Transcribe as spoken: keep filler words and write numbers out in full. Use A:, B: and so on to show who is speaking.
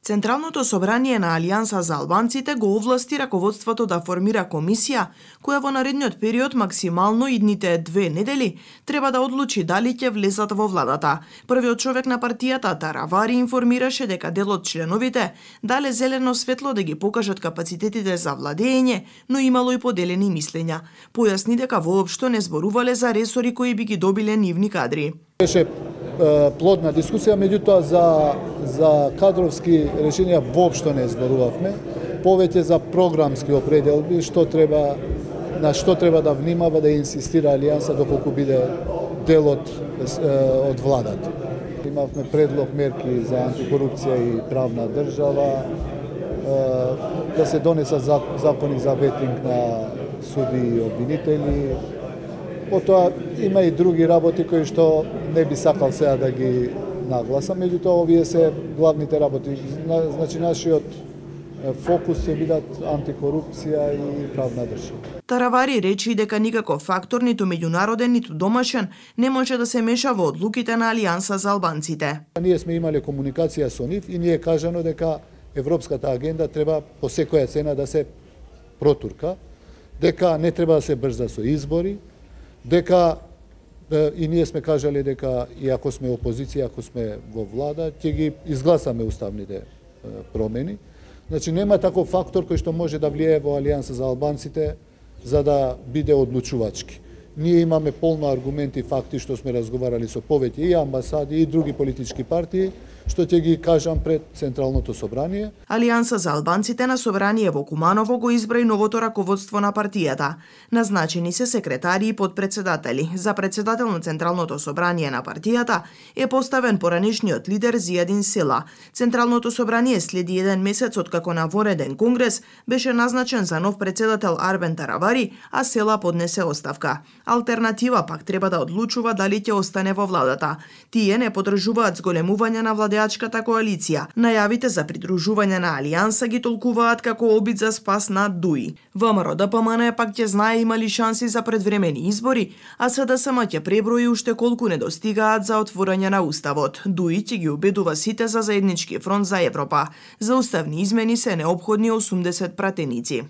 A: Централното собрание на Алијанса за албанците го овласти раководството да формира комисија, која во наредниот период максимално идните две недели треба да одлучи дали ќе влезат во владата. Првиот човек на партијата Таравари информираше дека дел од членовите дале зелено светло да ги покажат капацитетите за владење, но имало и поделени мислења. Појасни дека воопшто не зборувале за ресори кои би ги добиле нивни кадри.
B: Беше плодна дискусија, меѓутоа за за кадровски решенија воопшто не зборувавме, повеќе за програмски определби, што треба на што треба да внимава да инсистира Алијанса доколку биде дел од од владата. Имавме предлог мерки за антикорупција и правна држава, да се донесат закони за ветинг на суди и обвинители. Потоа има и други работи кои што не би сакал сега да ги нагласам, меѓутоа овие се главните работи. Значи нашиот фокус ќе бидат антикорупција и правна држава.
A: Таравари речи дека никаков фактор, ниту меѓународен, ниту домашен, не може да се меша во одлуките на Алијанса за албанците.
B: Ние сме имале комуникација со нив и ние е кажано дека европската агенда треба по секоја цена да се протурка, дека не треба да се брза со избори, дека и ние сме кажале дека и ако сме опозиција, ако сме во влада, ќе ги изгласаме уставните промени. Значи нема таков фактор кој што може да влијае во Алијанса за албанците за да биде одлучувачки. Ние имаме полно аргументи и факти што сме разговарали со повеќе и амбасади и други политички партии, што ќе ги кажам пред Централното собрание.
A: Алијанса за албанците на собрание во Куманово го избра и новото раководство на партијата. Назначени се секретари и подпредседатели. За председател на Централното собрание на партијата е поставен поранешниот лидер Зијадин Села. Централното собрание следи еден месец откако на вореден конгрес беше назначен за нов председател Арбен Таравари, а Села поднесе оставка. Алтернатива пак треба да одлучува дали ќе остане во владата. Тие не подржуваат зголемување на владеачката коалиција. Најавите за придружување на Алијанса ги толкуваат како обид за спас на ДУИ. ВМРО Д П М Н пак ќе знае има ли шанси за предвремени избори, а С Д С М ќе преброи уште колку недостигаат за отворање на уставот. ДУИ ќе ги убедува сите за заеднички фронт за Европа. За уставни измени се неопходни осумдесет пратеници.